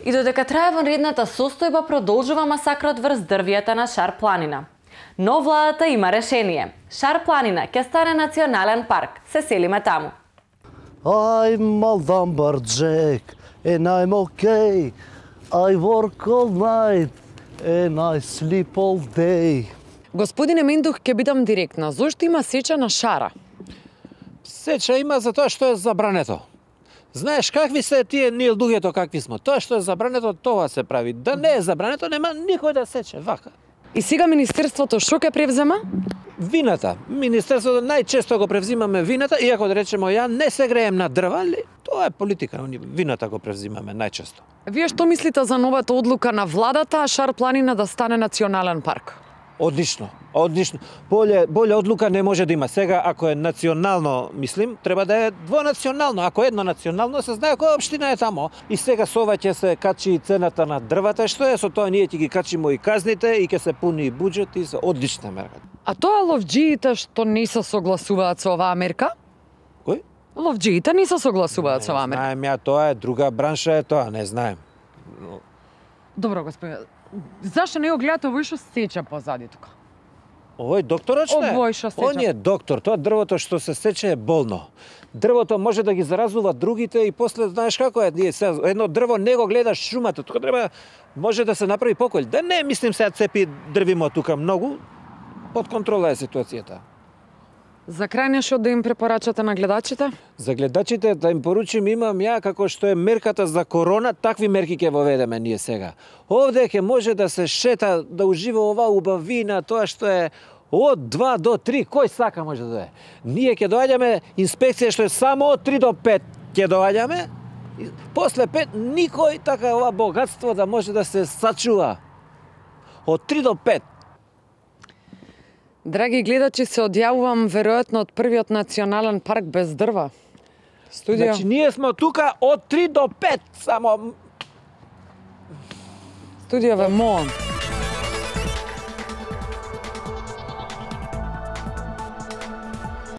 И додека трае ванредната состојба, продолжува масакрот врз дрвијата на Шар планина. Но владата има решение. Шар планина ќе стане национален парк. Се селиме таму. I'm a lumberjack and I'm okay. I work all night and I sleep all day. Господине Мендух, ќе бидам директна. Зошто има сеча на шара? Сеча има за тоа што е забрането. Знаеш какви се тие ние луѓето какви сме. Тоа што е забрането, тоа се прави. Да не е забрането, нема никој да сече вака. И сега министерството што ќе превзема? Вината. Министерството најчесто го превзимаме вината, иако да речеме ја не се греем на дрва, али тоа е политика, вината го превзимаме најчесто. Вие што мислите за новата одлука на владата Шар планина да стане национален парк? Одлично, одлично. Боле одлука не може да има. Сега, ако е национално, мислим, треба да е двонационално. Ако е едно национално, се знае која општина е тамо. И сега со ова ќе се качи и цената на дрвата, што е со тоа ние ќе ги качимо и казните и ќе се пуни и буџет и се одлична мерка. А тоа ловџиите што не се согласуваат со оваа мерка? Кој? Ловџиите не се согласуваат со оваа мерка. Знаем ја, тоа е друга бранша е тоа, не знаем. Добро, господине. Зашто не го гледате овој што сече позади тука? Овој докторот што е? Овој што сече. Он е доктор, тоа дрвото што се сече е болно. Дрвото може да ги заразува другите и после знаеш како е, ние едно дрво не го гледаш шумата, тука треба може да се направи поколј. Да не мислим сега цепи дрвимо тука многу, под контрола е ситуацијата. За крај нешто да им препорачате на гледачите? За гледачите да им поручим имам ја како што е мерката за корона, такви мерки ќе воведеме ние сега. Овде ќе може да се шета, да ужива оваа убавина, тоа што е од 2 до 3, кој сака може да е. Ние ќе доаѓаме инспекција што е само од 3 до 5 ќе доаѓаме. После 5 никој така ова богатство да може да се сачува. Од 3 до 5. Драги гледачи, се одјавувам веројатно од првиот национален парк без дрва. Студио. Значи ние сме тука од 3 до 5 само. Студио ве молам.